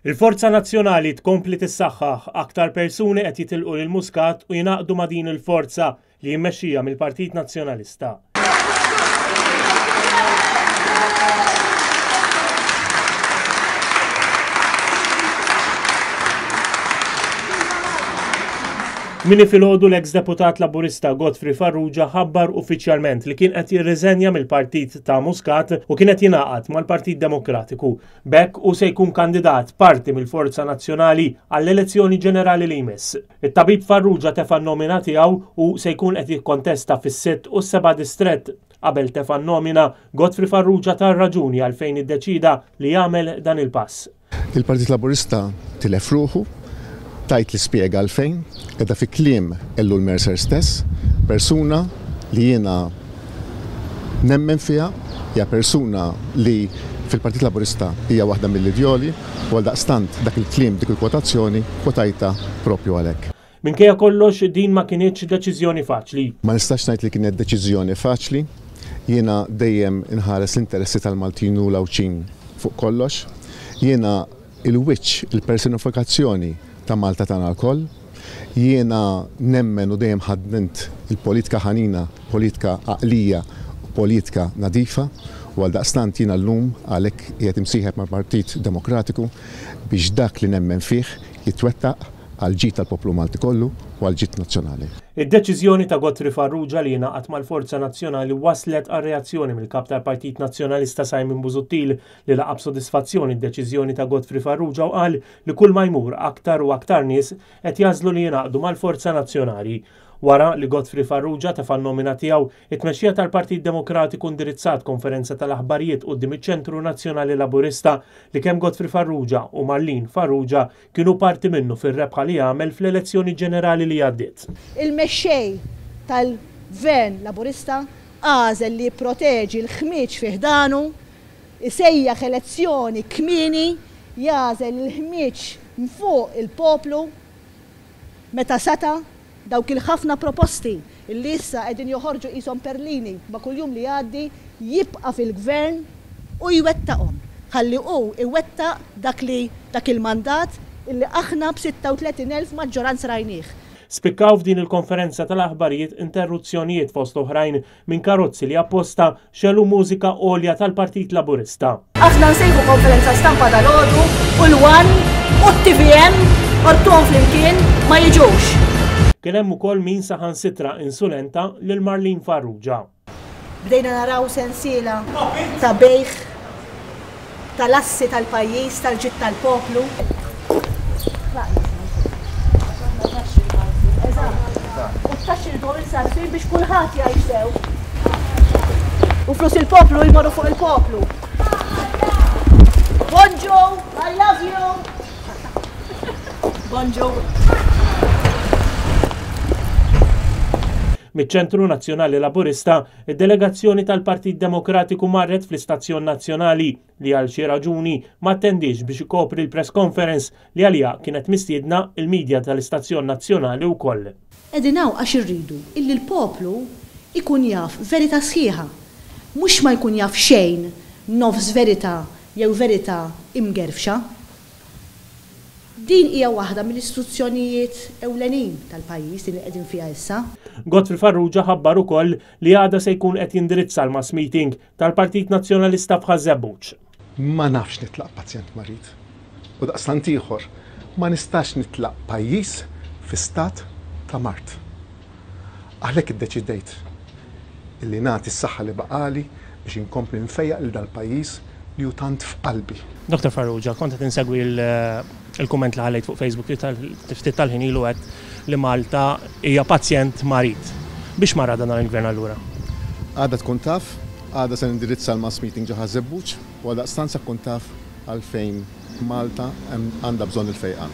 Il-Forza Nazzjonali tkompli tissaħħaħ, aktar persuni qed jitilqu lil Muscat u jingħaqdu ma' din il-forza li hi mmexxija mill-Partit Nazzjonalista. Kmieni filgħodu l-eks deputat Laburista Godfrey Farrugia ħabbar uffiċjalment li kien qed jirriżenja mill-partit ta' Muscat u kien qed jingħaqad mal-Partit Demokratiku. B'hekk hu se jkun kandidat parti mill-Forza Nazzjonali għall-elezzjoni ġenerali li jmiss. It-tabib Farrugia tefa' n-nomina tiegħu u se jkun qed jikkontesta fis-sitt u s-seba' distrett. Qabel tefa' n-nomina, Godfrey Farrugia ta r-raġuni għalfejn iddeċieda li jagħmel dan il-pass. Il-Partit Laburista tilef ruħu, tgħid li spjega għalfejn, qiegħda fi kliem Ellul Mercer stess, persuna li jiena nemmen fiha, hija persuna li fil-Partit Laburista hija waħda mill-idjoli u għaldaqstant dak il-kliem, dik il-kwotazzjoni, kwotajtha proprju għalhekk. Minkejja kollox, din ma kinitx deċiżjoni faċli. Ma nistax ngħid li kienet deċiżjoni faċli. Jiena dejjem inħares l-interessi tal-Maltin u l-Għawdxin fuq kollox. Jiena il-wiċċ, il-personifikazzjoni ta' Malta tagħna lkoll. Jiena nemmen u dejjem ħaddint il-politika ħanina, politika għaqlija u politika nadifa u għaldaqstant jiena llum għalhekk qiegħed imsieħeb mal-Partit Demokratiku biex dak li nemmen fih jitwettaq għall-ġid tal-poplu Malti kollu u għall-ġid nazzjonali. Id-deċiżjoni ta' Godfrey Farrugia li jingħaqad mal-Forza Nazzjonali wasslet għal reazzjoni mill-Kap tal-Partit Nazzjonalista Simon Busuttil li laqa' b'sodisfazzjon id-deċiżjoni ta' Godfrey Farrugia u qal li kull ma jmur aktar u aktar nies qed jagħżlu li jingħaqdu mal-Forza Nazzjonali. Wara li Godfrey Farrugia tefa' n-nomina tiegħu, it-tmexxija tal-Partit Demokratiku indirizzat konferenza tal-aħbarijiet quddiem iċ-Ċentru Nazzjonali Laburista li kemm Godfrey Farrugia u Marlene Farrugia kienu parti minnu fir-rebħa li għamel fl-elezzjoni ġenerali li għaddiet. Il-mexxej tal-Gvern Laburista għażel li jipproteġi l-ħmieġ fi ħdanu Isejjaħ elezzjoni kmieni, jagħżel il-ħmieġ mfuq il-poplu meta seta' dawk il-ħafna proposti li issa qegħdin joħorġu qishom perlini ma' kull jum li jgħaddi, jibqa' fil-Gvern u jwettaqhom. Ħalli hu iwettaq dak li dak il-mandat illi aħna b'36,000 maġġoranza rajnih. Spikkaw f'din il-konferenza tal-aħbarijiet interruzzjonijiet fost oħrajn minn karozzi li apposta xegħlu mużika għolja tal-Partit Laburista. Aħna nsejħu konferenza stampa dalgħodu u l-One u t-TVM ortuhom flimkien ma jiġux. Kien hemm ukoll min saħansitra insulenta lil Marlene Farrugia. Bdejna naraw sensiela ta' bejgħ tal-assi tal-pajjiż, tal-ġid tal-poplu. U t-taxxi rriduhom imsarrfin biex kulħadd jgħix sew. U flus il-poplu jmorru fuq il-poplu. Bonġu, I love you. Bonġu. Miċ-Ċentru Nazzjonali Laburista, id-delegazzjoni tal-Partit Demokratiku marret fl-Istazzjon Nazzjonali li għal xi raġuni ma attendiex biex ikopri l-press conference li għaliha kienet mistiedna l-media tal-Istazzjon Nazzjonali wkoll. Qegħdin hawn għax irridu illi l-poplu jkun jaf verità sħiħa, mhux ma jkun jaf xejn nofs verità jew verità imgerfxa. Din hija waħda mill-istituzzjonijiet ewlenin tal-pajjiż, din li qegħdin fiha issa. Godfrey Farrugia ħabbar ukoll li għada se jkun qed jindirizza l-mass meeting tal-Partit Nazzjonalista f'Ħaż-Żebbuġ. Ma nafx nitlaq pazjent marid. U daqstant ieħor, ma nistax nitlaq pajjiż fi stat ta' mard. Għalhekk iddeċidejt illi nagħti s-saħħa li baqagħli biex inkompli nfejjaq lil dal-pajjiż li hu tant f'qalbi. Dottor Farrugia, kont qed insegwi l-kumment li ħallejt fuq Facebook ftit tal-ħin ilu għedt li Malta hija pazjent marid. Biex mar għada dan il-Gvern allura? Għada tkun taf, għada se nindirizza l-mass meeting ġo Ħaż-Żebbuġ u għaldaqstant se tkun taf għalfejn Malta għandha bżonn il-fejqan.